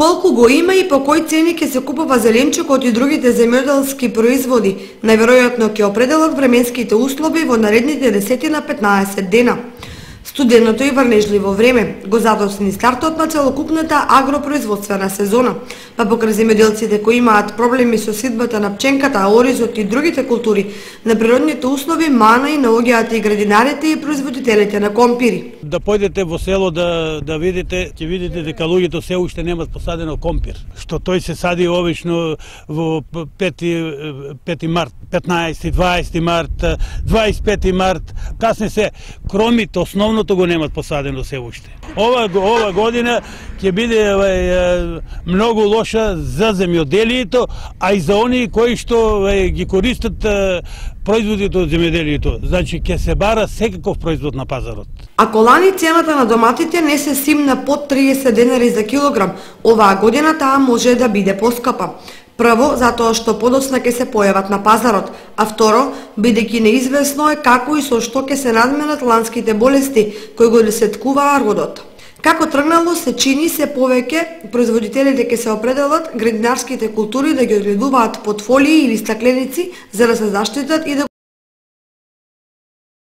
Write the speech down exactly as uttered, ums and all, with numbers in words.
Колку го има и по кој цени ќе се купува зеленчукот и другите земјоделски производи, најверојатно ќе определат временските услови во наредните десет на петнаесет дена. Студеното и врнежливо време го задосни стартот на целокупната агропроизводствена сезона, па покрај земјоделците кои имаат проблеми со сидбата на пченката, оризот и другите култури, на природните услови мана и наоѓаат и градинарите и производителите на компири. Да појдете во село да да видите, ќе видите дека луѓето се уште немаат посадено компир, што тој се сади обично во пети март, петнаесети, дваесети март, дваесет и пети март, касне се кромите основното го немат посадено се уште. Ова ова година ќе биде е, многу лоша за земјоделието, а и за оние кои што е, ги користат е, производите од земјоделието. Значи ќе се бара секаков производ на пазарот. Ако лани цената на доматите не се симна под триесет денари за килограм, оваа година таа може да биде поскапа. Прво, затоа што подоцна ќе се појават на пазарот, а второ, бидејќи неизвестно е како и со што ќе се надменат ланските болести кои го десеткуваа родот. Како тргнало се чини се повеќе производителите ќе се определат градинарските култури да ги одгледуваат под фолии или стакленици за да се заштитат и да